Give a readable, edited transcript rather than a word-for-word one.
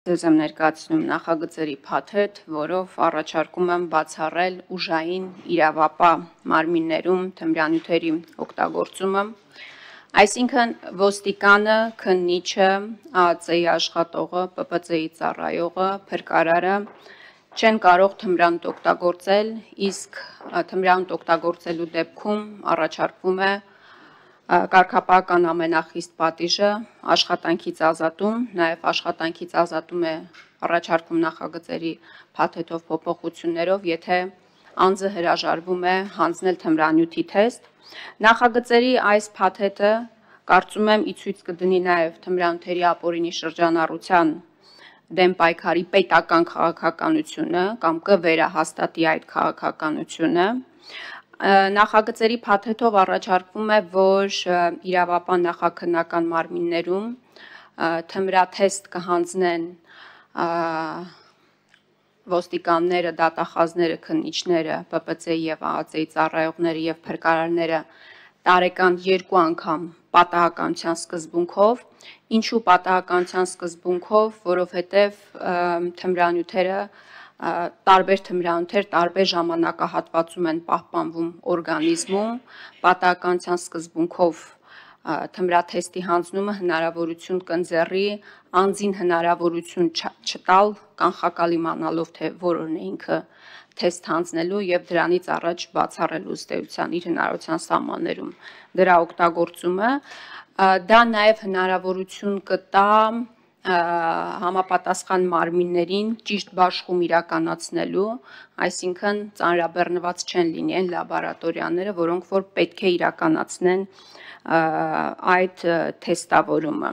Ձեզ եմ ներկայացնում նախագծերի փաթեթ, որով առաջարկում եմ բացառել ուժային իրավապահ մարմիններում թմրանյութերի օգտագործումը, այսինքն ոստիկանը, քննիչը, ԱԱԾ-ի աշխատողը, ՊՊԾ-ի ծառայողը, փրկարարը չեն կարող թմրանյութ օգտագործել, իսկ թմրանյութ օգտագործելու դեպքում առաջարկվում է կարգապահական ամենախիստ պատիժը աշխատանքից ազատում, նաև աշխատանքից ազատում է առաջարկում նախագծերի փաթեթով փոփոխություններով, եթե անձը հրաժարվում է հանձնել թմրանյութի թեստ։ Նախագծերի այս փաթեթը կարծում եմ ի ցույց կդնի նաև թմրանյութերի ապօրինի շրջանառության դեմ պայքարի պետական քաղաքականությունը կամ կվերահաստատի այդ քաղաքականությունը։ Նախագծերի փաթեթով առաջարկվում է, որ իրավապահ նախաքննական մարմիններում թմրաթեստ կհանձնեն ոստիկանները, դատախազները, քննիչները, ՊՊԾ-ի և ԱԱԾ-ի ծառայողները և փրկարարները տարեկան 2 անգամ պատահականության սկզբունքով։ Ինչու պատահականության սկզբունքով, որովհետև տարբեր թմրանյութեր տարբեր ժամանակահատվածում են պահպանվում օրգանիզմում, պատահականության սկզբունքով թմրաթեստի հանձնումը հնարավորություն կընձեռի անձին հնարավորություն չտալ կանխակալ իմանալով, թե որն է ինքը թեստ հանձնելու և դրանից առաջ բացառելու ըստ էության իր հնարավորության սահմաններում դրա օգտագործումը։ Դա նաև հնարավորություն կտա համապատասխան մարմիններին ճիշտ բաշխում իրականացնելու, այսինքն ծանրաբեռնված չեն լինի այն լաբորատորիաները, որոնք որ պետք է իրականացնեն այդ թեստավորումը։